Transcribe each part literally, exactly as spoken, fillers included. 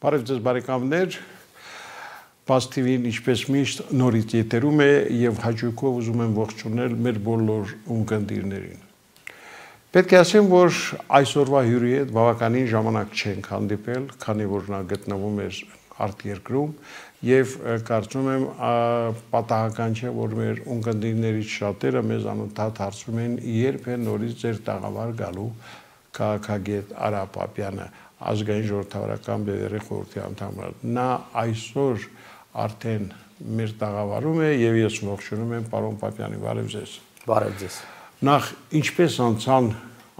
Բարև ձեզ բարեկամներ, Բաց Թի վին ինչպես միշտ նորից եթերում է եւ հաճույքով ուզում եմ ողջունել մեր բոլոր ունկնդիրներին։ Պետք է ասեմ, որ այսօրվա հյուրի հետ բավականին ժամանակ չենք հանդիպել, քանի որ նա գտնվում էր արտերկրում եւ կարծում եմ պատահական չէ, որ մեր ունկնդիրներից շատերը մեզ անընդհատ հարցում են, երբ է նորից ձեր տաղավար գալու քաղաքագետ Արա Պապյանը, ազգային ժողովրդավարական բևեռի խորհրդի անդամ։ Նա այսօր արդեն մեր տաղավարում է եւ ես ողջունում եմ պարոն Պապյանի, բարև ձեզ։ Բարև ձեզ։ Նախ ինչպես անցան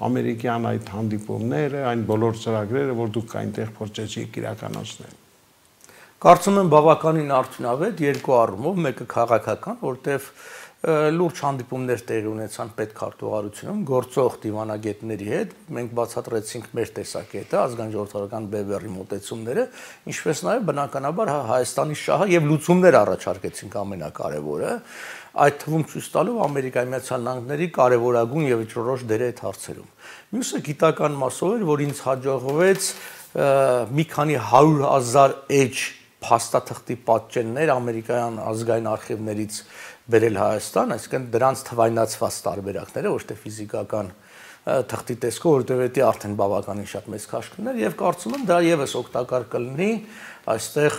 ամերիկյան այդ հանդիպումները, այն բոլոր ծրագրերը, որ դուք այնտեղ փորձեցիք իրականացնել։ Կարծում եմ բավականին արդյունավետ երկու առումով, մեկը քաղաքական, որտեղ լուրջ հանդիպումներ տեղի ունեցան պետքարտուղարությունում գործող դիվանագետների հետ, մենք բացատրեցինք մեր տեսակետը, ազգային ժողովրդական բևեռի մոտեցումները, ինչպես նաև բնականաբար Հայաստանի շահը եւ լուծումներ առաջարկեցինք ամենակարևորը, այդ թվում ցույց տալով Ամերիկայի Միացյալ Նահանգների կարևորագույն եւ ճորոշ դերը այդ հարցերում։ Մյուսը գիտական մասով էր, որ ինձ հաջողվեց մի քանի հարյուր հազար էջ փաստաթղթի պատճեններ ամերիկյան ազգային արխիվներից բերել Հայաստան, այսինքն դրանց թվայնացված տարբերակները, ոչ թե ֆիզիկական թղթի տեսքով, որտեղ դա արդեն բավականին շատ մեծ քաշքներ եւ կարծում եմ դա եւս օգտակար կլինի այստեղ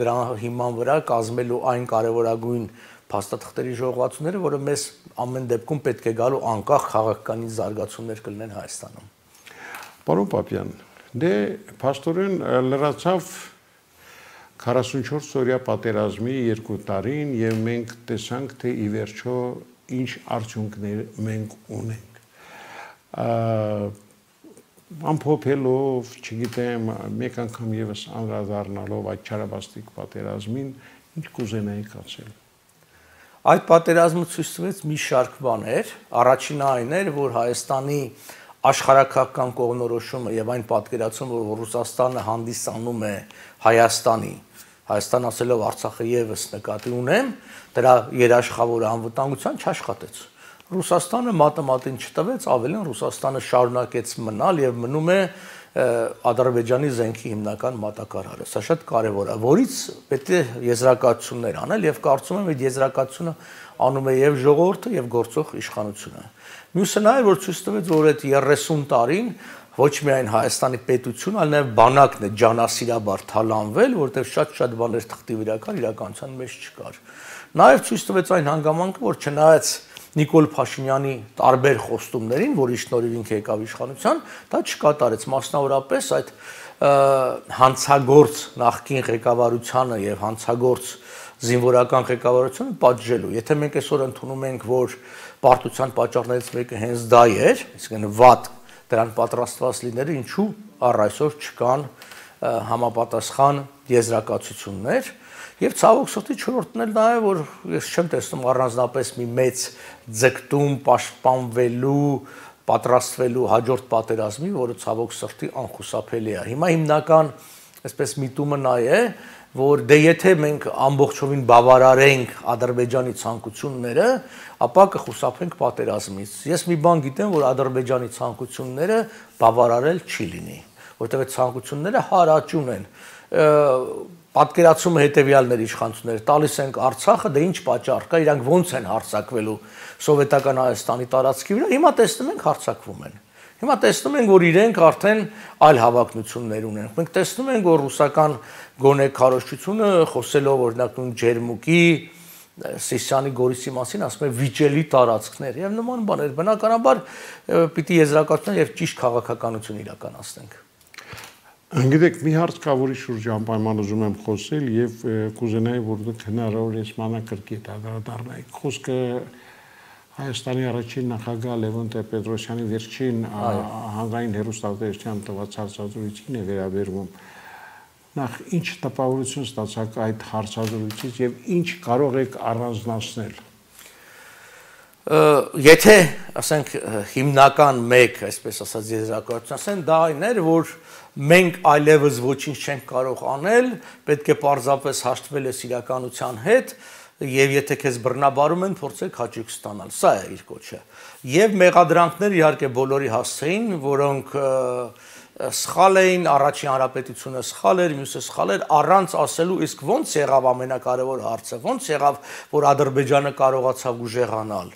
դրա հիման վրա կազմելու այն կարևորագույն փաստաթղթերի ժողովածուները, որը մեզ ամեն դեպքում պետք է գալու անկախ քաղաքական զարգացումներ կլինեն Հայաստանում։ Պարոն Պապյան, դե փաստորեն լրացավ քառասունչորս օրյա պատերազմի երկու տարին եւ մենք տեսանք, թե ի վերջո ինչ արդյունքներ մենք ունենք։ Ամփոփելով, չգիտեմ, մեկ անգամ եւս անդրադառնալով այդ չարաբաստիկ պատերազմին, ինչ կուզենայիք ասել։ Այդ պատերազմը ցույց տվեց մի շարք բաներ, առաջինը այն էր, որ Հայաստանի աշխարհակաղակական կողմնորոշումը եւ այն պատկերացումը, որ Ռուսաստանը հանդիսանում է Հայաստանի, Հայաստան ասելով Արցախը եւս նկատի ունեմ, դրա երաշխավորը անվտանգության չաշխատեց։ Ռուսաստանը մատը մատին չտվեց, ավելին Ռուսաստանը շարունակեց մնալ եւ մնում է Ադրբեջանի զենքի հիմնական մատակարարը։ Սա շատ կարեւոր է, որից պետք է եզրակացություններ անել եւ կարծում եմ այդ եզրակացությունը անում է եւ ժողովուրդը եւ գործող իշխանությունը։ Մյուսը նա է, որ ցույց տվեց, որ այդ երեսուն տարին ոչ միայն Հայաստանի պետություն, այլ նաև բանակն է ջանասիրաբար թալանվել, որտեղ շատ-շատ բաներ թղթի վրա կար, իրականության մեջ չկար։ Նաև ցույց տվեց այն հանգամանքը, որ չնայած Նիկոլ Փաշինյանի տարբեր խոստումներին, որի շնորհիվ ինքը եկավ իշխանության, դա չկատարեց, մասնավորապես այդ հանցագործ նախկին ղեկավարությանը եւ հանցագործ զինվորական ղեկավարությունը պատժելու։ Եթե մենք այսօր ընդունում ենք, որ պարտության պատճառներից մեկը հենց դա էր, այսինքն վատ դրան պատրաստված լինելը, ինչու առ այսօր չկան համապատասխան եզրակացություններ եւ ցավոք սրտի չորրորդն էլ նա է, որ ես չեմ տեսնում առանձնապես մի մեծ ձգտում պաշտպանվելու, պատրաստվելու հաջորդ պատերազմի, որը ցավոք սրտի անխուսափելի է։ Հիմա հիմնական այսպես միտումը նա է, որ դե եթե մենք ամբողջովին բավարարենք Ադրբեջանի ցանկությունները, ապա կխուսափենք պատերազմից։ Ես մի բան գիտեմ, որ Ադրբեջանի ցանկությունները բավարարել չի լինի, որտեղ այդ ցանկությունները հարաճուն են։ Պատկերացումը հետեւյալներ իշխանությունները տալիս են Արցախը, դե ինչ պատճառ կա, իրանք ոնց են հարձակվելու սովետական Հայաստանի տարածքի վրա, հիմա տեսնում ենք հարձակվում են։ Հիմա տեսնում ենք, որ իրենք արդեն այլ հավակնություններ ունեն։ Մենք տեսնում ենք, որ ռուսական գոնե քարոզչությունը խոսելով օրինակ նույն Ջերմուկի, Սիսիանի Գորիսի մասին ասում է վիճելի տարածքներ եւ նման բաներ։ Բնականաբար պիտի եզրակացնենք եւ ճիշտ քաղաքականություն իրականացնենք։ Գիտեք, մի հարց կա, որի շուրջ անպայման ուզում եմ խոսել եւ կուզենայի, որ դուք հնարավոր է մանրակրկիտ անդրադառնայիք։ Խոսքը Հայաստանի առաջին նախագահ Լևոն Տեր-Պետրոսյանի վերջին հանրային հեռուստատեսության տված հարցազրույցին է վերաբերվում։ Նախ ինչ տպավորություն ստացաք այդ հարցազրույցից եւ ինչ կարող եք առանձնացնել։ Եթե, ասենք, հիմնական մեկ, այսպես ասած, եզրակացություն ասեն, դա այն էր, որ մենք այլևս ոչինչ չենք կարող անել, պետք է պարզապես հաշտվել ես իրականության հետ եւ եթե քեզ բռնաբարում են, փորձեք հաճույք ստանալ։ Սա է իր կոչը։ Եվ մեղադրանքներ իհարկե բոլորի հասցեին, որոնք սխալ էին, առաջին հանրապետությունը սխալ էր, մյուսը սխալ էր, առանց ասելու իսկ ոնց եղավ ամենակարևոր հարցը, ոնց եղավ, որ Ադրբեջանը կարողացավ ուժեղանալ,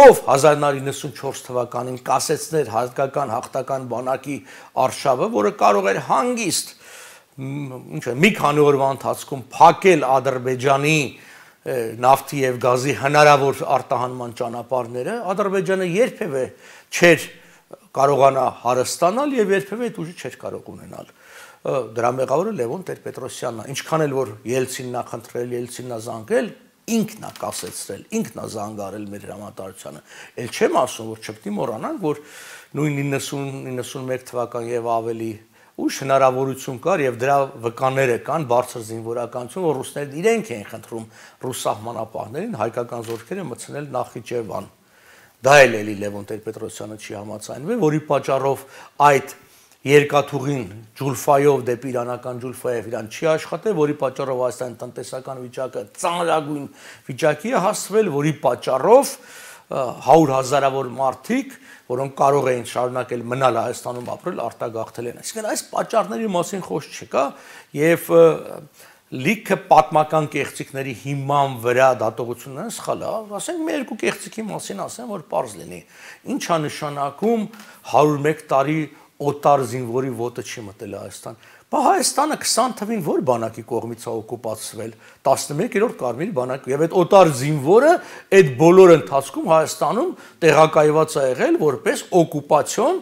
ով հազար նոց իննսունչորս թվականին կասեցներ հայկական հաղթական բանակի արշավը, որը կարող էր հանգիստ ինչ է, մի քանի օրվա ընթացքում փակել Ադրբեջանի նավթի եւ գազի հնարավոր արտահանման ճանապարհները, Ադրբեջանը երբևէ չէր կարողանա հարստանալ եւ երբևէ այդ ուժը չէր կարող ունենալ։ Դրա մեղավորը Լևոն Տեր-Պետրոսյանն է, ինչքան էլ որ Ելցինն է խնդրել, Ելցինն է զանգել, ինքն է կասեցրել, ինքն է զանգարել մեր հրամանատարությանը։ Էլ չեմ ասում, որ չպետք է մոռանանք, որ նույն իննսուն իննսունմեկ թվական եւ ավելի ուժ հնարավորություն կար եւ դրա վկաները կան բարձր զինվորականություն, որ ռուսներն իրենք էին խնդրում ռուս սահմանապահներին հայկական զորքերը մտցնել Նախիջևան։ Դա էլ էլի Լևոն Տեր-Պետրոսյանը չի համաձայնվել, որի պատճառով այդ երկաթուղին Ջուլֆայով դեպի իրանական Ջուլֆայով իրան չի աշխատել, որի պատճառով Հայաստանի տնտեսական վիճակը ծանրագույն վիճակի է հասցվել, որի պատճառով հարյուր հազարավոր մարդիկ, որոնք կարող էին շարունակել մնալ Հայաստանում ապրել, արտագաղթել են։ Այսինքն այս պատճառների մասին խոսք չկա եւ լիքը պատմական կեղծիքների հիման վրա դատողությունները սխալ է, ասենք մի երկու կեղծիքի մասին ասեմ, որ պարզ լինի։ Ինչ է նշանակում հարյուր մեկ տարի օտար զինվորի ոտը չի մտել Հայաստան։ Բա Հայաստանը քսան թվին որ բանակի կողմից է օկուպացվել, տասնմեկերորդ Կարմիր բանակի, եւ այդ օտար զինվորը այդ բոլոր ընթացքում Հայաստանում տեղակայված է եղել որպես օկուպացիոն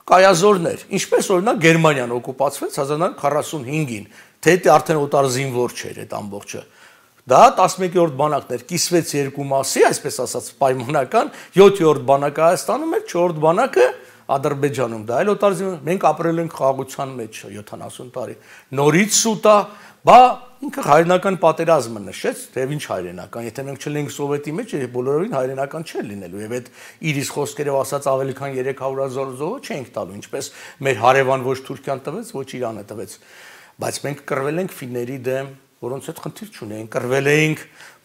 կայազորներ, ինչպես օրինակ Գերմանիան օկուպացվեց հազար նոց քառասունհինգին, թե դա արդեն օտար զինվոր չէր այդ ամբողջը։ Դա տասնմեկերորդ բանակն էր, կիսվեց երկու մասի, այսպես ասած պայմանական, յոթերորդ բանակը Հայաստանում էր, չորրորդ բանակը Ադրբեջանում, դա էլ օտար զինվոր, մենք ապրել ենք խաղաղության մեջ յոթանասուն տարի, նորից սուտ է, բա ինքը հայրենական պատերազմը նշեց, թեև ինչ հայրենական, եթե մենք չլինենք Սովետի մեջ, բոլորովին հայրենական չէր լինելու, եւ այդ իրիս խոսքերով ասած ավելի քան երեք հարյուր հազար զոհը չենք տալու, ինչպես մեր հարևան ոչ Թուրքիան տվեց, ոչ Իրանը տվեց, բայց մենք կռվել ենք ֆինների դեմ, որոնց հետ խնդիր չունեին, կռվել էինք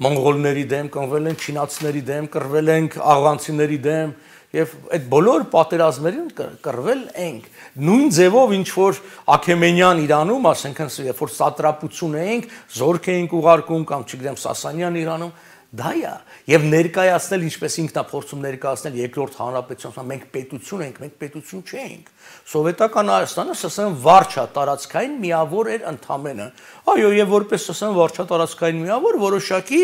մոնղոլների դեմ, կռվել ենք չինացիների դեմ, կռվել ենք աղանցիների դեմ, եւ այդ բոլոր պատերազմերին կռվել ենք նույն ձևով ինչ որ Աքեմենյան Իրանում, ասենք երբ որ սատրապություն էինք, զորք էինք ուղարկում կամ չգիտեմ Սասանյան Իրանում, դա է եւ ներկայացնել ինչպես ինքն է փորձում ներկայացնել երկրորդ հանրապետություն, մենք պետություն ենք, մենք պետություն չենք։ Սովետական Հայաստանը ՍՍՍՐ վարչա տարածքային միավոր էր ընդամենը։ Այո, եւ որպես ՍՍՍՐ վարչա տարածքային միավոր որոշակի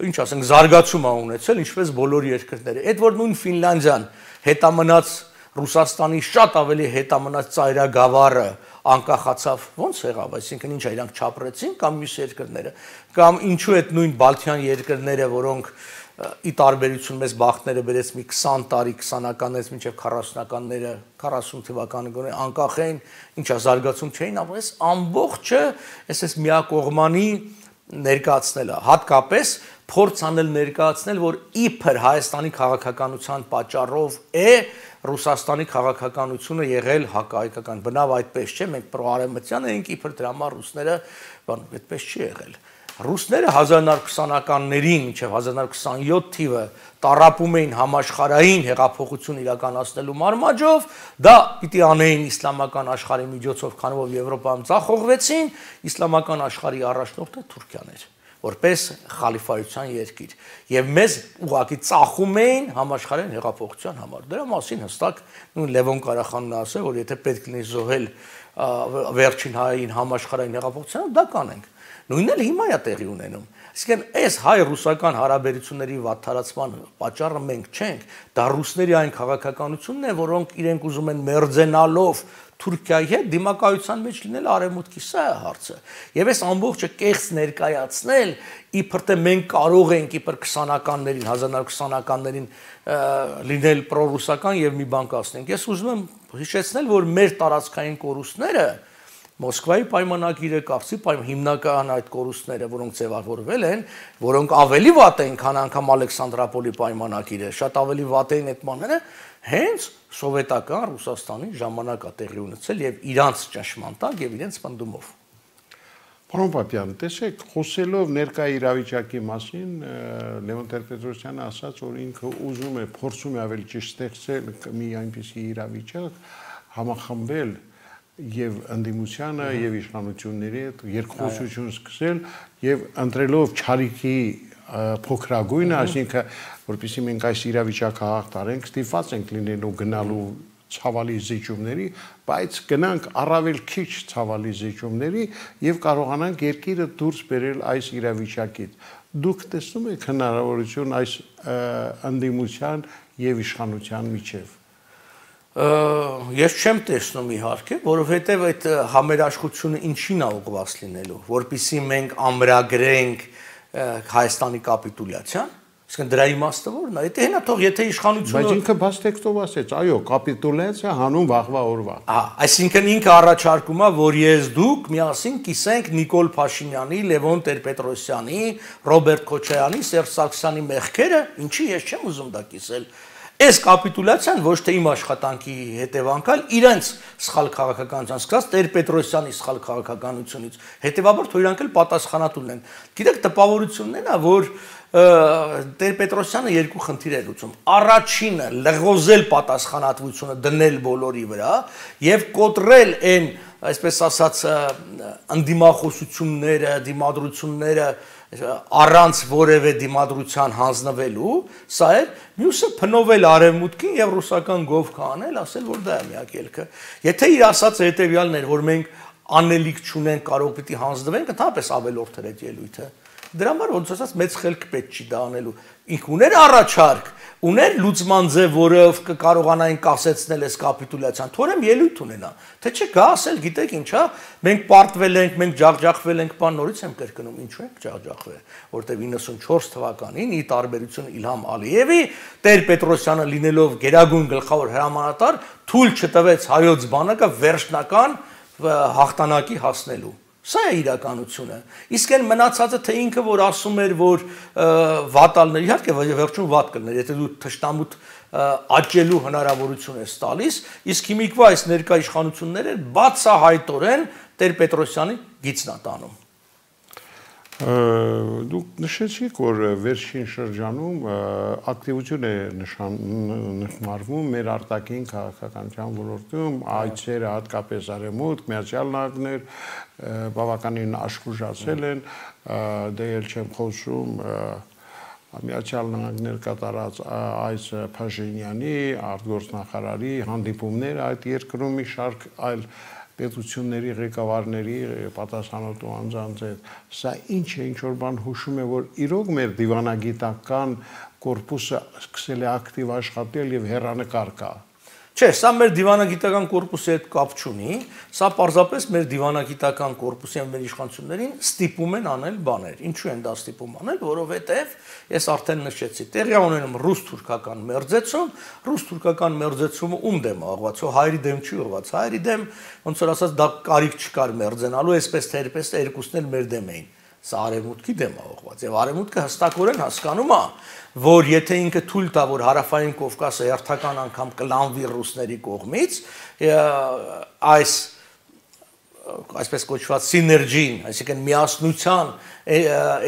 ինչ ասենք զարգացում ա ունեցել ինչպես բոլոր երկրները այդ որ նույն Ֆինլանդիան հետամնաց Ռուսաստանի շատ ավելի հետամնաց ծայրագավառը անկախացավ ոնց եղավ այսինքն ինչ իրանք չապրեցին կամ մյուս երկրները կամ ինչու այդ նույն Բալթյան երկրները որոնք ի տարբերություն մեզ բախտները բերեց մի քսան տարի քսանականներից մինչև քառասունականները քառասուն թվականը գոնե անկախ էին ինչա զարգացում չէին ապրես ամբողջը այսպես միակողմանի ներկայացնելը հատկապես փորձ անել ներկայացնել որ իբր Հայաստանի քաղաքականության պատճառով է Ռուսաստանի քաղաքականությունը եղել հակահայկական բնավ այդպես չէ մենք պրոարևմտյան ենք իբր դրա համար ռուսները բան այդպես չի եղել ռուսները հազար նոց քսանականներին մինչև հազար նոց քսանյոթ թիվը տարապում էին համաշխարհային հեղափոխություն իրականացնելու մարմաջով դա պիտի անեին իսլամական աշխարհի միջոցով քանի որ Եվրոպայում ցախողվեցին իսլամական աշխարհի առաջնորդը Թուրքիան էր որպես խալիֆայության երկիր եւ մեզ ուղղակի ծախում էին համաշխարհային հեղափոխության համար դրա մասին հստակ նույն Լևոն Ղարախանն ասել որ եթե պետք լինի զոհել վերջին հային համաշխարհային հեղափոխությունը դա կանենք նույնն էլ հիմա է տեղի ունենում Այսինքն այս հայ-ռուսական հարաբերությունների վատթարացման պատճառը մենք չենք, դա ռուսների այն քաղաքականությունն է, որոնք իրենք ուզում են մերձենալով Թուրքիայի հետ դիմակայության մեջ լինել արևմուտքի, սա է հարցը։ Եվ այս ամբողջը կեղծ ներկայացնել, իբր թե մենք կարող ենք իբր քսանականներին, հազար նոց քսանականներին լինել պրոռուսական եւ մի բան կասնենք։ Ես ուզում եմ հիշեցնել, որ մեր տարածքային կորուստները Մոսկվայի պայմանագիրը կապսի հիմնական այդ կորուստները, որոնք ձևավորվել են, որոնք ավելի վատ են, քան անգամ Ալեքսանդրապոլի պայմանագիրը, շատ ավելի վատ են այդ բաները, հենց սովետական Ռուսաստանի ժամանակ է տեղի ունեցել եւ իրանց ճնշման տակ եւ իրենց պնդումով։ Պարոն Պապյան, տեսեք, խոսելով ներկա իրավիճակի մասին, Լևոն Տեր-Պետրոսյանը ասաց, որ ինքը ուզում է, փորձում է ավելի ճիշտ ստեղծել մի այնպիսի իրավիճակ, համախմբել եւ ընդդիմությանը եւ իշխանությունների հետ երկխոսություն սկսել եւ ընտրելով չարիքի փոքրագույնը, այսինքն որպեսզի մենք այս իրավիճակը հաղթարենք, ստիպված ենք լինելու գնալու ցավալի զիջումների, բայց գնանք առավել քիչ ցավալի զիջումների եւ կարողանանք երկիրը դուրս բերել այս իրավիճակից։ Դուք տեսնում եք հնարավորություն այս ընդդիմության եւ իշխանության միջեւ։ Ես չեմ տեսնում իհարկե, որովհետև այդ համերաշխությունը ինչին է ուղղված լինելու, որpիսի մենք ամրագրենք Հայաստանի կապիտուլյացիան, իսկ դրա իմաստը ո՞րն է։ Եթե հենա թող եթե իշխանությունը Բայց ինքը բաց տեքստով ասեց, այո, կապիտուլյացիա հանուն վաղվա օրվա։ Ահա, այսինքն ինքը առաջարկում է, որ ես դուք միասին կիսենք Նիկոլ Փաշինյանի, Լևոն Տեր-Պետրոսյանի, Ռոբերտ Քոչարյանի, Սերժ Սարգսյանի մեղքերը, ինչի ես չեմ ուզում դա կիսել։ Այս կապիտուլյացիան ոչ թե իմ աշխատանքի հետևանքալ իրենց սխալ քաղաքականության սկսած Տեր-Պետրոսյանի սխալ քաղաքականությունից, հետևաբար թող իրանք էլ պատասխանատուն են։ Գիտեք, տպավորությունն է նա, որ Տեր-Պետրոսյանը երկու խնդիր է լուծում։ Առաջինը լղոզել պատասխանատվությունը, դնել բոլորի վրա եւ կոտրել այն, այսպես ասած, անդիմախոսությունները, դիմադրությունները առանց որևէ դիմադրության հանձնվելու, սա է, մյուսը փնովել արևմուտքին եւ ռուսական գովք անել, ասել որ դա է միակ ելքը։ Եթե իր ասածը հետեւյալն էր, որ մենք անելիք չունենք, կարող պիտի հանձնվենք, ընդհանրապես ավելորդ էր այդ ելույթը։ Դրա համար ոնց ասած մեծ խելք պետք չի դա անելու։ Ինք ուներ առաջարկ, ուներ լուծման ձև, որը կկարողանային կասեցնել այս կապիտուլյացիան, թորեմ ելույթ ունենա, թե չէ գա ասել, գիտեք ինչ է, մենք պարտվել ենք, մենք ջախջախվել ենք, բան նորից եմ կրկնում, ինչու ենք ջախջախվել, որտեղ իննսունչորս թվականին ի տարբերություն Իլհամ Ալիևի, Տեր-Պետրոսյանը լինելով գերագույն գլխավոր հրամանատար, թույլ չտվեց հայոց բանակը վերջնական հաղթանակի հասնելու։ Սա է իրականությունը։ Իսկ այն մնացածը թե ինքը որ ասում էր, որ վատալներ, իհարկե վերջում վատ կլներ, եթե դու թշնամուտ աճելու հնարավորություն ես տալիս, իսկ հիմիկվա այս ներկա իշխանությունները բացահայտորեն Տեր-Պետրոսյանի գիծն է տանում։ Դուք նշեցիք, որ վերջին շրջանում ակտիվություն է նշմարվում մեր արտաքին քաղաքականության ոլորտում, այցերը հատկապես արևմուտք, Միացյալ Նահանգներ բավականին աշխուժացել են, դե էլ չեմ խոսում Միացյալ Նահանգներ կատարած այս Փաշինյանի, արտգործնախարարի հանդիպումներ այդ երկրում մի շարք այլ պետությունների ղեկավարների պատասխանատու անձանց հետ, սա ինչ է, ինչ որ բան հուշում է, որ իրոք մեր դիվանագիտական կորպուսը սկսել է ակտիվ աշխատել եւ հեռանկար կա։ Չէ, սա մեր դիվանագիտական կորպուսի հետ կապ չունի, սա պարզապես մեր դիվանագիտական կորպուսի եւ մեր իշխանություններին ստիպում են անել բաներ։ Ինչու են դա ստիպում անել, որովհետեւ ես արդեն նշեցի, տեղի ունենում ռուս-թուրքական մերձեցում, ռուս-թուրքական մերձեցումը ում դեմ է ուղղված, հայերի դեմ չի ուղղված, հայերի դեմ ոնց որ ասած դա կարիք չկար մերձենալու, այսպես թե այդպես երկուսն էլ մեր դեմ էին։ Սա արևմուտքի դեմ է ուղղված եւ արևմուտքը հստակորեն հասկանում է, որ եթե ինքը թույլ տա, որ հարավային Կովկասը հերթական անգամ կլանվի ռուսների կողմից, այս այսպես կոչված սիներգին, այսինքն միասնության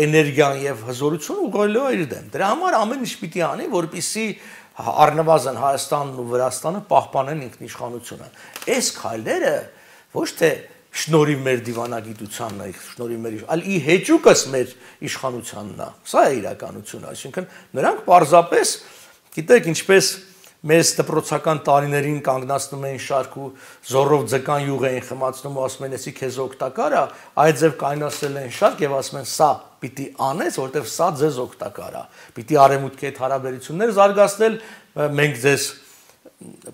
էներգիան եւ հզորությունը ուղղելու է իր դեմ։ Դրա համար ամեն ինչ պիտի անի, որպեսզի առնվազն Հայաստանն ու Վրաստանը պահպանեն ինքնիշխանությունը։ Այս քայլերը ոչ թե շնորհիվ մեր դիվանագիտությանն է, շնորհիվ մեր, այլ ի հեճուկս մեր իշխանությանն է։ Սա է իրականությունը, այսինքն նրանք պարզապես, գիտեք, ինչպես մեզ դպրոցական տարիներին կանգնացնում էին շարք ու զորով ձկան յուղ էին խմացնում ու ասում են, «Էսի քեզ օգտակար է», այդ ձև կայնացրել են շարք եւ ասում են, «Սա պիտի անես, որտեվ սա ձեզ օգտակար է»։ Պիտի արևմուտքի հետ հարաբերություններ զարգացնել, մենք ձեզ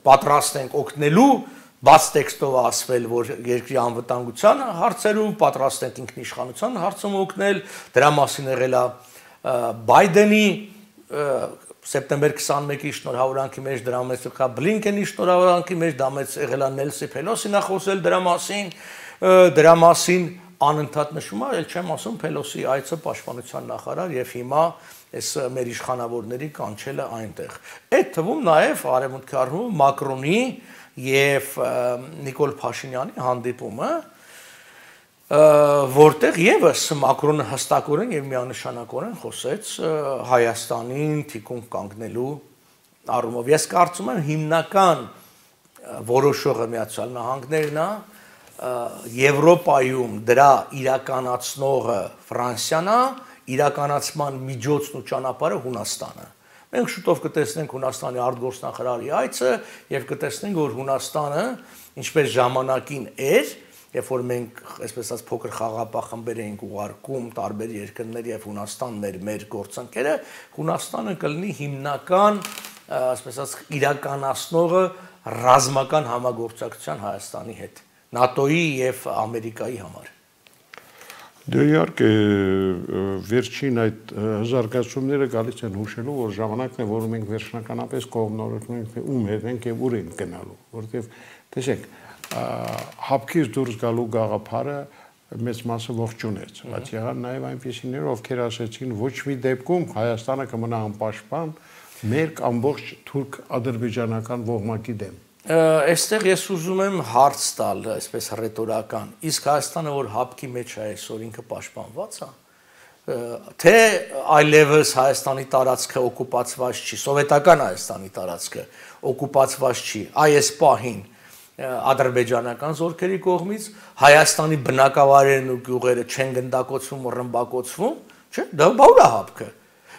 պատրաստ ենք օգնելու, բաց տեքստով ասվել, որ երկրի անվտանգության հարցերում պատրաստ ենք ինքնիշխանության հարցում օգնել, դրա մասին եղել է Բայդենի սեպտեմբեր քսանմեկի շնորհավորանքի մեջ, դրա մեջ եղել է Բլինկենի շնորհավորանքի մեջ, դա մեջ եղել է Նելսի Փելոսին է խոսել դրա մասին, դրա մասին անընդհատ նշում է, ել չեմ ասում Փելոսի այցը պաշտպանության նախարար եւ հիմա այս մեր իշխանավորների կանչելը այնտեղ։ Այդ թվում նաեւ արևմուտքի առումով Մակրոնի եւ Նիկոլ Փաշինյանի հանդիպումը, որտեղ եւս Մակրոնը հստակորեն եւ միանշանակորեն խոսեց Հայաստանին թիկունք կանգնելու առումով։ Ես կարծում եմ հիմնական որոշողը Միացյալ Նահանգներն է, Եվրոպայում դրա իրականացնողը Ֆրանսիան է, իրականացման միջոցն ու ճանապարհը Հունաստանը։ Մենք շուտով կտեսնենք Հունաստանի արտգործնախարարի այցը եւ կտեսնենք, որ Հունաստանը ինչպես ժամանակին էր, երբ որ մենք այսպես ասած փոքր խաղապահ էինք ուղարկում տարբեր երկրներ եւ Հունաստանն էր մեր գործընկերը, Հունաստանը կլինի հիմնական, այսպես ասած, իրականացնողը ռազմական համագործակցության Հայաստանի հետ, ՆԱՏՕ-ի եւ Ամերիկայի համար։ Դե իհարկե վերջին այդ զարգացումները գալիս են հուշելու, որ ժամանակն է, որ մենք վերջնականապես կողմնորոշում ենք ում հետ ենք եւ ուր ենք գնալու, որովհետեւ տեսեք, հապկից դուրս գալու գաղափարը մեծ մասը ողջունեց, բայց եղան նաեւ այնպիսիներ, ովքեր ասեցին ոչ մի դեպքում Հայաստանը կմնա անպաշտպան մեր ամբողջ թուրք-ադրբեջանական ողմակի դեմ։ Այստեղ ես ուզում եմ հարց տալ, այսպես ռետորական, իսկ Հայաստանը որ հապկի մեջ է այսօր ինքը պաշտպանված է, թե այլևս Հայաստանի տարածքը օկուպացված չի, սովետական Հայաստանի տարածքը օկուպացված չի, այս պահին ադրբեջանական զորքերի կողմից, Հայաստանի բնակավայրերն ու գյուղերը չեն գնդակոծվում ու ռմբակոծվում, չէ՞, դա բաուր է հապկը։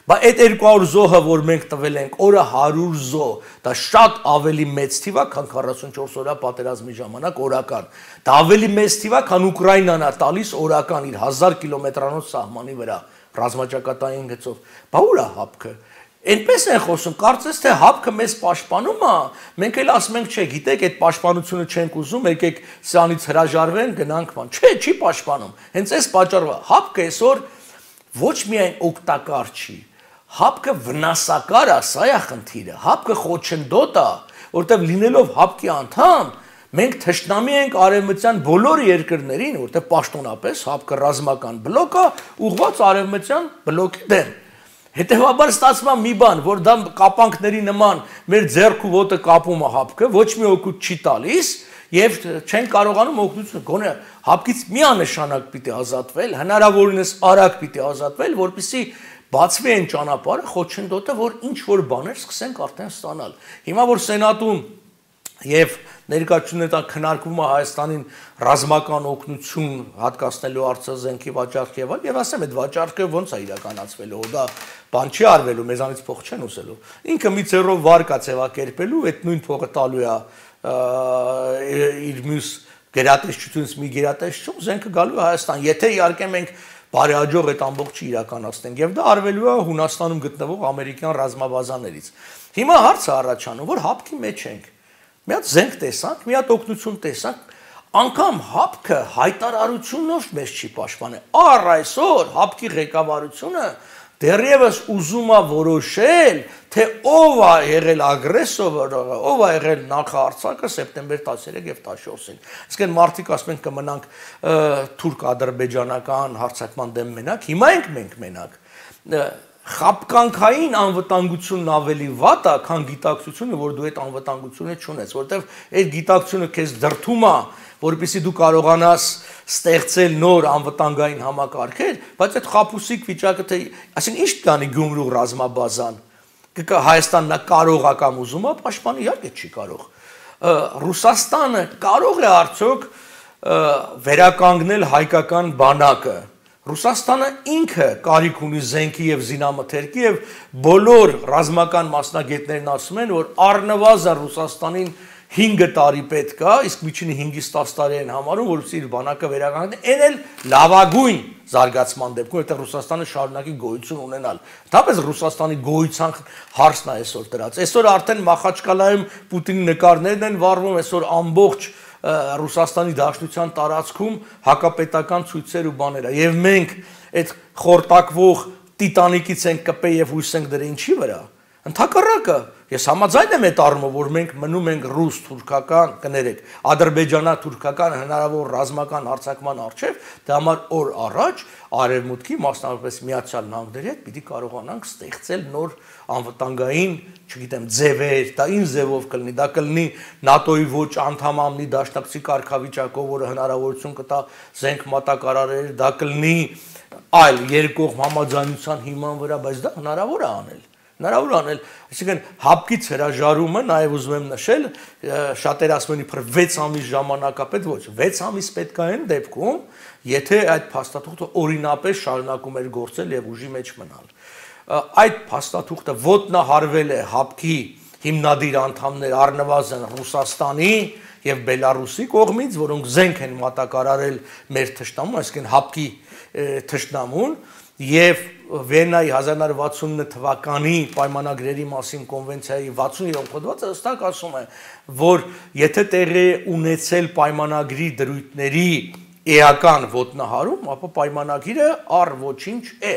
Բայց այդ երկու հարյուր զոհը, որ մենք տվել ենք, օրը հարյուր զոհ, դա շատ ավելի մեծ թիվ է, քան քառասունչորս օրյա պատերազմի ժամանակ օրական։ Դա ավելի մեծ թիվ է, քան Ուկրաինան է տալիս օրական իր հազար կիլոմետրանոց սահմանի վրա ռազմաճակատային գծով։ Բա ուր է հապկը։ Այնպես են խոսում, կարծես թե հապկը մեզ պաշտպանում է, մենք էլ ասում ենք, չէ, գիտեք, այդ պաշտպանությունը չենք ուզում, եկեք սրանից հրաժարվեն, գնանք ման։ Չէ, չի պաշտպանում։ Հենց այս պատճառով հապկը այսօր ոչ միայն օգտակար չի, հապկը վնասակար է, սա է խնդիրը, հապկը խոչընդոտ է, որտեղ լինելով հապկի անդամ, մենք թշնամի ենք արևմտյան բոլոր երկրներին, որտեղ պաշտոնապես հապկը ռազմական բլոկ է, ուղղված արևմտյան բլոկի դեմ։ Հետևաբար ստացվում է մի բան, որ դա կապանքների նման մեր ձեռք ու ոտը կապում է հապկը, ոչ մի օգուտ չի տալիս եւ չեն կարողանում օգնություն գոնե հապկից միանշանակ պիտի ազատվել, հնարավորինս արագ պիտի ազատվել, որպեսզի բացվի այն ճանապարհը, խոչընդոտը, որ ինչ որ բաներ սկսենք արդեն ստանալ։ Հիմա որ սենատում եւ ներկայացումները քննարկվում է Հայաստանին ռազմական օգնություն հատկացնելու արձազենքի վաճառք եւ այլ, եւ ասեմ այդ վաճառքը ոնց է իրականացվելու, դա բան չի արվելու, մեզանից փող չեն ուսելու։ Ինքը մի ծերով վարկա ձևակերպելու, այդ նույն փողը տալու է իր մյուս գերատեսչությունից մի գերատեսչություն, զենքը գալու է Հայաստան, եթե իհարկե մենք բարեհաջող այդ ամբողջը իրականացնենք, եւ դա արվելու է Հունաստանում գտնվող ամերիկյան ռազմաբազաներից։ Հիմա հարցը առաջանում, որ հապկի մեջ ենք։ Մի հատ զենք տեսանք, մի հատ օգնություն տեսանք, անգամ հապկը հայտարարությունով մեզ չի պաշտպանել։ Առ այսօր հապկի ղեկավարությունը դեռևս ուզում է որոշել, թե ով է եղել ագրեսորը, ով է եղել նախահարձակը սեպտեմբեր տասներեք եւ տասնչորսին։ Իսկ այն մարդիկ ասում են կմնանք թուրք-ադրբեջանական հարձակման դեմ մենակ, հիմա ենք մենք մենակ։ Խապկանքային անվտանգությունն ավելի վատ է, քան գիտակցությունը, որ դու այդ անվտանգությունը չունես, որովհետև այդ գիտակցությունը քեզ դրդում է, որպեսզի դու կարողանաս ստեղծել նոր անվտանգային համակարգեր, բայց այդ խապուսիկ վիճակը թե, այսինքն ինչ կանի Գյումրու ռազմաբազան, Հայաստանն կարող է կամ ուզում է պաշտպանի, իհարկե չի կարող։ Ռուսաստանը կարող է արդյոք վերականգնել հայկական բանակը։ Ռուսաստանը ինքը կարիք ունի զենքի եւ զինամթերքի եւ բոլոր ռազմական մասնագետներն ասում են, որ առնվազն Ռուսաստանին հինգ տարի պետք է, իսկ միջինը հինգից տասը տարի են համարում, որովհետեւ իր բանակը վերականգնի, այն էլ լավագույն զարգացման դեպքում, որտեղ Ռուսաստանը շարունակի գոյություն ունենալ։ Դապես Ռուսաստանի գոյության հարցն է այսօր դրած։ Այսօր արդեն Մախաչկալայում Պուտինի նկարներն են վառվում, այսօր ամբողջ Ռուսաստանի Դաշնության տարածքում հակապետական ցույցեր ու բաներ է, եւ մենք այդ խորտակվող տիտանիկից ենք կպե եւ հույս ենք դրել ինչի վրա։ Ընդհակառակը, ես համաձայն եմ այդ առումով, որ մենք մնում ենք ռուս-թուրքական, կներեք, ադրբեջանա-թուրքական հնարավոր ռազմական հարձակման առջև, դա համար օր առաջ արևմուտքի, մասնավորապես Միացյալ Նահանգների հետ պիտի կարողանանք ստեղծել նոր անվտանգային, չգիտեմ, ձևեր, դա ինչ ձևով կլինի, դա կլինի ՆԱՏՕ-ի ոչ անդամամնի դաշնակցի կարգավիճակով, որը հնարավորություն կտա զենք մատակարարել, դա կլինի այլ երկկողմ համաձայնության հիման վրա, բայց դա հնարավոր է անել։ Հնարավոր անել, այսինքն հապկից հրաժարումը նաև ուզում եմ նշել, շատերը ասում են իբր վեց ամիս ժամանակապետ, ոչ, վեց ամիս պետք է այն դեպքում, եթե այդ փաստաթուղթը օրինապես շարունակում էր գործել եւ ուժի մեջ մնալ։ Այդ փաստաթուղթը ոտնահարվել է հապկի հիմնադիր անդամներ առնվազն Ռուսաստանի եւ Բելարուսի կողմից, որոնք զենք են մատակարարել մեր թշնամուն, այսինքն հապկի թշնամուն, եւ Վիեննայի հազար նոց վաթսունինը թվականի պայմանագրերի մասին կոնվենցիայի վաթսուներորդ հոդվածը հստակ ասում է, որ եթե տեղի ունեցել պայմանագրի դրույթների էական ոտնահարում, ապա պայմանագիրը առ ոչինչ է։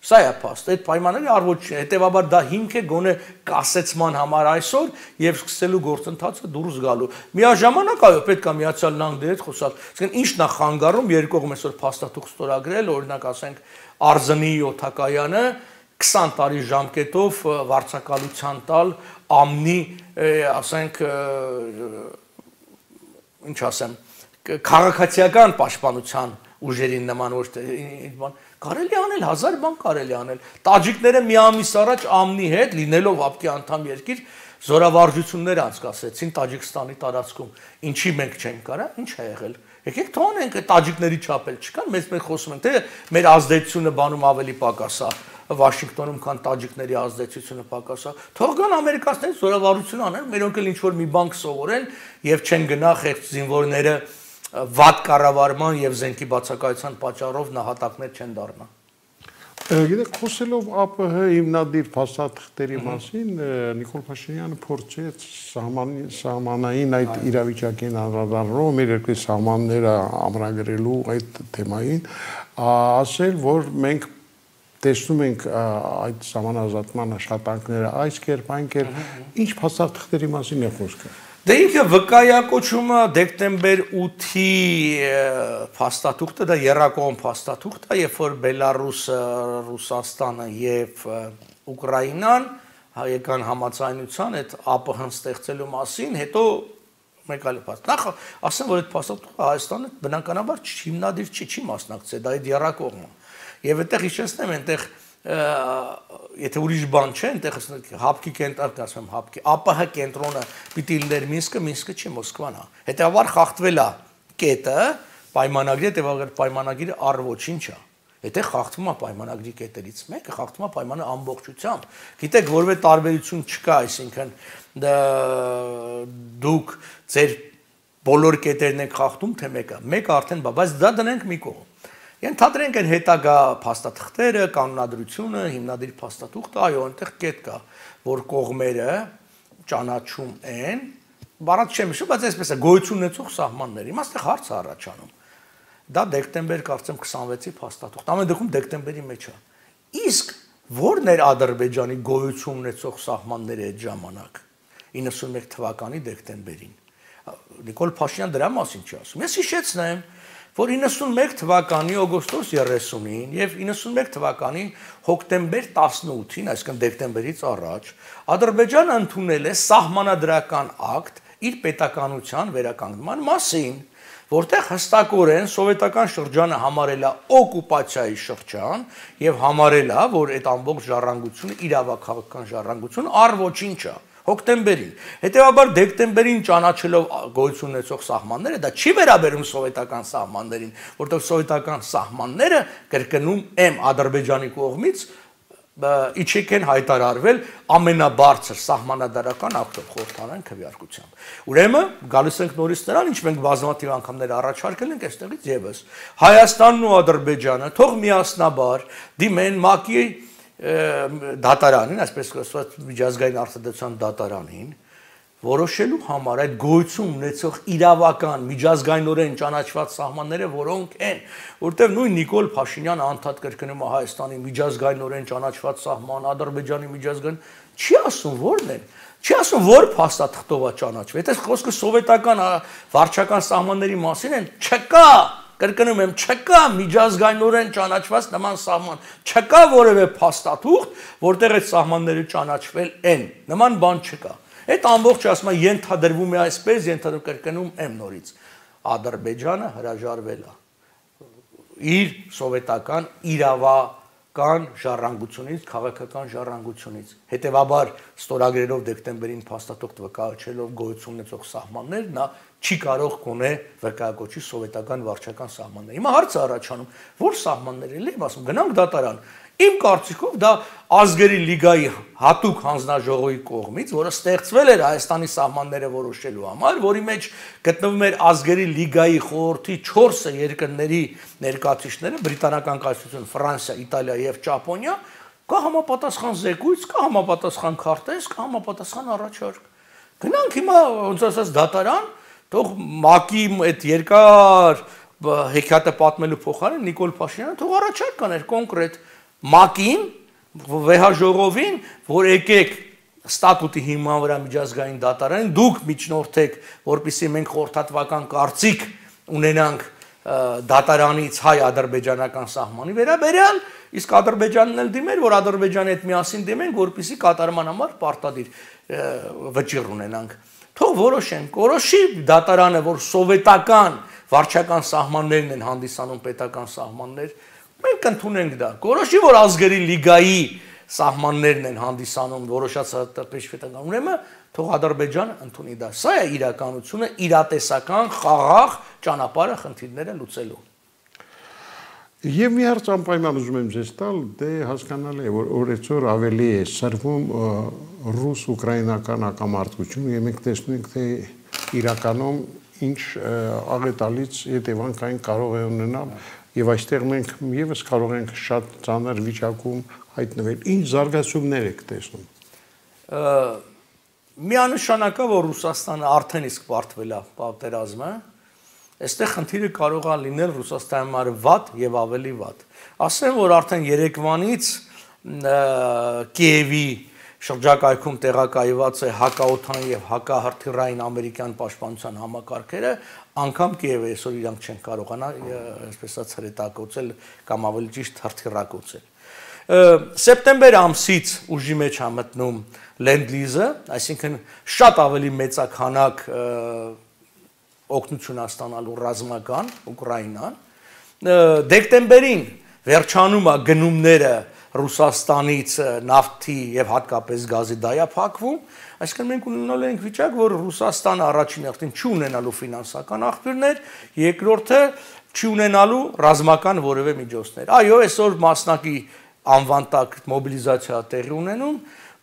Սա է փաստ, այդ պայմանագրի առ ոչինչ է, հետեւաբար դա հիմք է գոնե կասեցման համար այսօր եւ սկսելու գործընթացը դուրս գալու։ Միաժամանակ այո, պետք է Միացյալ Նահանգների հետ խոսալ։ Այսինքն ինչն է խանգարում երկու կողմ այսօր փաստաթուղթ ստորագրել, օրինակ ասենք Արզնի օթակայանը քսան տարի ժամկետով վարձակալության տալ ամնի, ասենք, ինչ ասեմ, քաղաքացիական պաշտպանության ուժերին նման ոչ թե բան կարելի անել, հազար բան կարելի անել։ Տաջիկները մի ամիս առաջ ամնի հետ լինելով հապկի անդամ երկիր զորավարժություններ անցկացրեցին Տաջիկստանի տարածքում։ Ինչի մենք չենք կարա, ինչ է եղել։ Եկեք թողնենք այդ տաջիկների չափել չկան, մեզ մենք խոսում ենք, թե մեր ազդեցությունը բանում ավելի պակաս է, Վաշինգտոնում քան տաջիկների ազդեցությունը պակաս է։ Թող գան ամերիկացիներից զորավարություն անեն, մերոնք էլ ինչ որ մի բան կսովորեն եւ չեն գնա խեղճ զինվորները վատ կառավարման եւ զենքի բացակայության պատճառով նահատակներ չեն դառնա։ Գիտեք, խոսելով ԱՊՀ հիմնադիր փաստաթղթերի մասին, Նիկոլ Փաշինյանը փորձեց սահմանային այդ իրավիճակին անդրադառնալով մեր երկրի սահմանները ամրագրելու այդ թեմային, ասել, որ մենք տեսնում ենք այդ սահմանազատման աշխատանքները այս կերպ, այն կերպ, ինչ փաստաթղթերի մասին է խոսքը։ Դե ինքը վկայակոչումը դեկտեմբեր ութի փաստաթուղթը, դա եռակողմ փաստաթուղթ է, երբ որ Բելարուսը, Ռուսաստանը եւ Ուկրաինան եկան համաձայնության այդ ԱՊՀ-ն ստեղծելու մասին, հետո մեկ այլ փաստ։ Նախ ասեմ, որ այդ փաստաթուղթը Հայաստանը բնականաբար հիմնադիր չի, չի մասնակցել, դա այդ եռակողմը։ Եվ այդտեղ հիշեցնեմ, այնտեղ եթե ուրիշ բան չէ, այնտեղ հապկի կենտրոնը, ասեմ հապկի, ԱՊՀ կենտրոնը պիտի լիներ Մինսկը, Մինսկը չի, Մոսկվան է։ Հետևաբար խախտվել է կետը, պայմանագրի, հետևաբար պայմանագիրը առ ոչինչ է։ Եթե խախտվում է պայմանագրի կետերից մեկը, խախտվում է պայմանը ամբողջությամբ։ Գիտեք, որևէ տարբերություն չկա, այսինքն դուք ձեր բոլոր կետերն եք խախտում, թե մեկը։ Մեկը արդեն բա, բայց դա դնենք մի կողմ։ Ենթադրենք այն հետագա փաստաթղթերը, կանոնադրությունը, հիմնադիր փաստաթուղթը, այո, այնտեղ կետ կա, որ կողմերը ճանաչում են, բառած չեմ հիշում, բայց այսպես է, գոյություն ունեցող սահմաններ։ Հիմա այստեղ հարց է առաջանում։ Դա դեկտեմբեր կարծեմ քսանվեցի փաստաթուղթ, ամեն դեպքում դեկտեմբերի մեջ է։ Իսկ ո՞րն էր Ադրբեջանի գոյություն ունեցող սահմանները այդ ժամանակ, իննսունմեկ թվականի դեկտեմբերին։ Նիկոլ Փաշինյան դրա մասին չի ասում։ Ես հիշեցնեմ, որ իննսունմեկ թվականի օգոստոս երեսունին եւ իննսունմեկ թվականի հոկտեմբեր տասնութին, այսինքն դեկտեմբերից առաջ, Ադրբեջանը ընդունել է սահմանադրական ակտ իր պետականության վերականգնման մասին, որտեղ հստակորեն սովետական շրջանը համարել է օկուպացիայի շրջան եւ համարել է, որ այդ ամբողջ ժառանգությունը իրավաքաղաքական ժառանգություն առ ոչինչ է։ Հոկտեմբերին։ Հետևաբար դեկտեմբերին ճանաչելով գոյություն ունեցող սահմանները, դա չի վերաբերում սովետական սահմաններին, որտեղ սովետական սահմանները կրկնում եմ Ադրբեջանի կողմից իջեք են հայտարարվել ամենաբարձր սահմանադարական ակտով խորհրդանային քվեարկությամբ։ Ուրեմն գալիս ենք նորից նրան, ինչ մենք բազմաթիվ անգամներ առաջարկել ենք այստեղից եւս։ Հայաստանն ու Ադրբեջանը թող միասնաբար դիմեն ՄԱԿ-ի դատարանին, այսպես ասած միջազգային արտադրության դատարանին, որոշելու համար այդ գոյություն ունեցող իրավական միջազգայինորեն ճանաչված սահմանները որոնք են, որտեղ նույն Նիկոլ Փաշինյանը անդադ կրկնում է Հայաստանի միջազգայինորեն ճանաչված սահման, Ադրբեջանի միջազգային, չի ասում որն են, չի ասում որ փաստաթղթով է ճանաչվել, եթե խոսքը սովետական վարչական սահմանների մասին են, չկա, կրկնում եմ, չկա միջազգայինորեն ճանաչված նման սահման, չկա որևէ փաստաթուղթ, որտեղ այդ սահմանները ճանաչվել են, նման բան չկա։ Այդ ամբողջը ասում է ենթադրվում է այսպես, ենթադրում կրկնում եմ նորից։ Ադրբեջանը հրաժարվել է իր սովետական իրավա կան ժառանգությունից, քաղաքական ժառանգությունից։ Հետևաբար ստորագրելով դեկտեմբերին փաստաթուղթ վկայակոչելով գոյություն ունեցող սահմաններ, նա չի կարող գոնե վկայակոչի սովետական վարչական սահմաններ։ Հիմա հարցը առաջանում, որ սահմաններ էլ եմ ասում, գնանք դատարան։ Իմ կարծիքով դա ազգերի լիգայի հատուկ հանձնաժողովի կողմից, որը ստեղծվել էր Հայաստանի սահմանները որոշելու համար, որի մեջ գտնվում էր ազգերի լիգայի խորհրդի չորս երկրների ներկայացուցիչները, բրիտանական կայսրություն, Ֆրանսիա, Իտալիա եւ Ճապոնիա, կա համապատասխան զեկույց, կա համապատասխան քարտեզ, կա համապատասխան առաջարկ։ Գնանք հիմա ոնց ասած դատարան, թող ՄԱԿ-ի այդ երկար հեքիաթը պատմելու փոխարեն Նիկոլ Փաշինյանը թող առաջարկ կաներ կոնկրետ ՄԱԿ-ին, վեհաժողովին, որ եկեք ստատուտի հիման վրա միջազգային դատարանին, դուք միջնորդեք, որպեսզի մենք խորհրդատվական կարծիք ունենանք դատարանից հայ-ադրբեջանական սահմանի վերաբերյալ, իսկ Ադրբեջանն էլ դիմեր, որ Ադրբեջանի հետ միասին դիմենք, որպեսզի կատարման համար պարտադիր վճիռ ունենանք։ Թող որոշենք, որոշի դատարանը, որ սովետական վարչական սահմաններն են հանդիսանում պետական սահմաններ, մենք ընդունենք դա։ Որոշի, որ ազգերի լիգայի սահմաններն են հանդիսանում որոշած պետական, ուրեմն թող Ադրբեջանը ընդունի դա։ Սա է իրականությունը, իրատեսական, խաղաղ ճանապարհը խնդիրները լուծելու։ Եվ մի հարց անպայման ուզում եմ ձեզ տալ, դե հասկանալի է, որ օրեցօր ավելի է սրվում ռուս-ուկրաինական հակամարտությունը, եւ մենք տեսնում ենք, թե իրականում ինչ աղետալից հետևանքային կարող է ունենալ, եւ այստեղ մենք եւս կարող ենք շատ ծանր վիճակում հայտնվել։ Ինչ զարգացումներ եք տեսնում։ Միանշանակ է, որ Ռուսաստանը արդեն իսկ պարտվել է պատերազմը, այստեղ խնդիրը կարող է լինել Ռուսաստանի համար վատ եւ ավելի վատ։ Ասեմ, որ արդեն երեկվանից Կիևի շրջակայքում տեղակայված է հակաօթան եւ հակահրթիռային ամերիկյան պաշտպանության համակարգերը, անգամ Կիևը այսօր իրանք չեն կարողանա, այսպես ասած, հրետակոծել կամ ավելի ճիշտ հրթիռակոծել։ Սեպտեմբեր ամսից ուժի մեջ է մտնում Լենդ-լիզը, այսինքն շատ ավելի մեծաքանակ օգնություն է ստանալու ռազմական Ուկրաինան։ Դեկտեմբերին վերջանում է գնումները Ռուսաստանից նավթի եւ հատկապես գազի դայափակվում, այսինքն մենք ունենալու ենք վիճակ, որ Ռուսաստանը առաջին հերթին չի ունենալու ֆինանսական աղբյուրներ, երկրորդը չի ունենալու ռազմական որևէ միջոցներ։ Այո, այսօր մասնակի անվան տակ մոբիլիզացիա տեղի ունենում,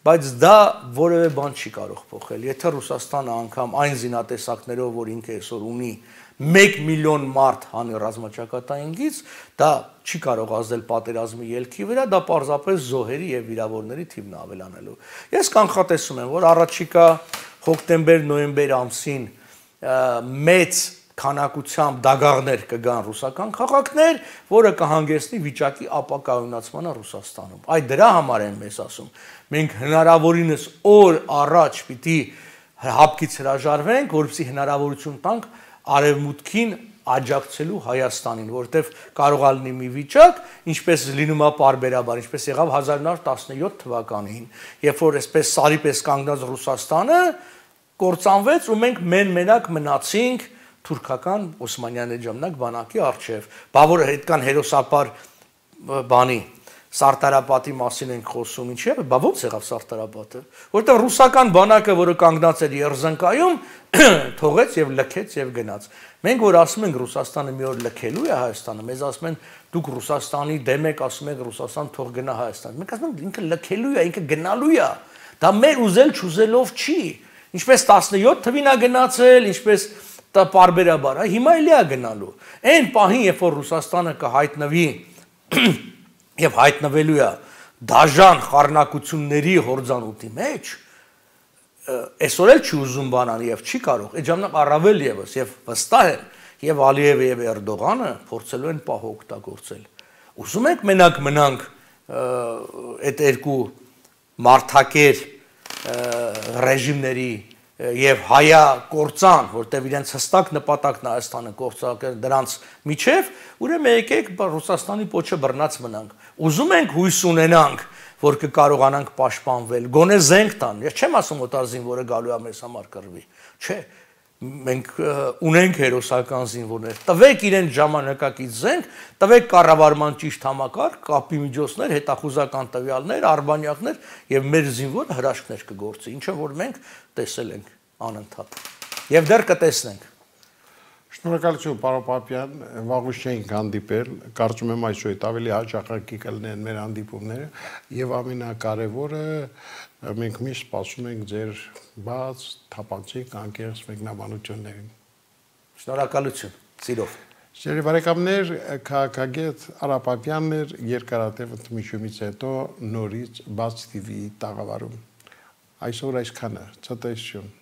բայց դա որևէ բան չի կարող փոխել։ Եթե Ռուսաստանը անգամ այն զինատեսակներով, որ ինքը այսօր ունի, մեկ միլիոն մարդ հանի ռազմաճակատայինից, դա չի կարող ազդել պատերազմի ելքի վրա, դա պարզապես զոհերի եւ վիրավորների թիվն ավելանելու։ Ես կանխատեսում եմ, որ առաջիկա հոկտեմբեր-նոյեմբեր ամսին մեծ քանակությամբ դագաղներ կգան ռուսական քաղաքներ, որը կհանգեցնի վիճակի ապակայունացմանը Ռուսաստանում։ Այդ դրա համար եմ ես ասում, մենք հնարավորինս օր առաջ պիտի հապկից հրաժարվենք, որպեսզի հնարավորություն տանք արևմուտքին աջակցելու Հայաստանին, որտեվ կարող է լինի մի վիճակ, ինչպես լինում է պարբերաբար, ինչպես եղավ հազար նոր տասնյոթ թվականին, երբ որ այսպես սարի պես կանգնած Ռուսաստանը կործանվեց ու մենք մեն-մենակ մնացինք թուրքական Օսմանյանների ժամանակ բանակի առջև, բա որ այդքան հերոսապար բանի Սարտարապատի մասին ենք խոսում, ինչի՞ է, բա ո՞նց եղավ Սարտարապատը, որտեղ ռուսական բանակը, որը կանգնած էր Երզնկայում, թողեց եւ լքեց եւ գնաց։ Մենք որ ասում ենք Ռուսաստանը մի օր լքելու է Հայաստանը, մեզ ասում են դուք Ռուսաստանի դեմ եք, ասում եք Ռուսաստան թող գնա Հայաստան։ Մենք ասում ենք ինքը լքելու է, ինքը գնալու է։ Դա մեր ուզել չուզելով չի։ Ինչպես տասնյոթ թվին է գնացել, ինչպես պարբերաբար, հիմա էլի է գնալու։ Այն պահին, երբ որ Ռուսաստանը կհայտնվի եւ հայտնվելու է դաժան խառնակությունների հորձանուտի մեջ, այսօր էլ չի ուզում բանան եւ չի կարող, այդ ժամանակ առավել եւս եւ վստահ եմ, եւ Ալիևը եւ Էրդողանը փորձելու են պահ օգտագործել։ Ուզում եք մենակ մնանք այդ երկու մարդակեր ռեժիմների եւ հայա կործան, որտեւ իրենց հստակ նպատակն է Հայաստանը կործակել դրանց միջև, ուրեմն եկեք Ռուսաստանի պոչը բռնած մնանք։ Ուզում ենք հույս ունենանք, որ կկարողանանք պաշտպանվել, գոնե զենք տան։ Ես չեմ ասում օտարզին, որը գալու է մեզ համար կռվի։ Չէ, մենք ունենք հերոսական զինվորներ, տվեք իրեն ժամանակակից զենք, տվեք կառավարման ճիշտ համակարգ, կապի միջոցներ, հետախուզական տվյալներ, արբանյակներ եւ մեր զինվորը հրաշքներ կգործի, ինչը որ մենք տեսել ենք անընդհատ եւ դեռ կտեսնենք։ Շնորհակալություն, պարոն Պապյան, վաղուց չենք հանդիպել, կարծում եմ այսօր այդ ավելի հաճախակի կլինեն մեր հանդիպումները եւ ամենակարևորը մենք միշտ սպասում ենք ձեր բաց, թափանցիկ, անկեղծ մեկնաբանություններին։ Շնորհակալություն, սիրով։ Սիրելի բարեկամներ, քաղաքագետ Արա Պապյանն էր երկարատև ընդմիջումից հետո նորից Բաց Թիվիի տաղավարում։ Այսօր այսքանը, ցտեսություն։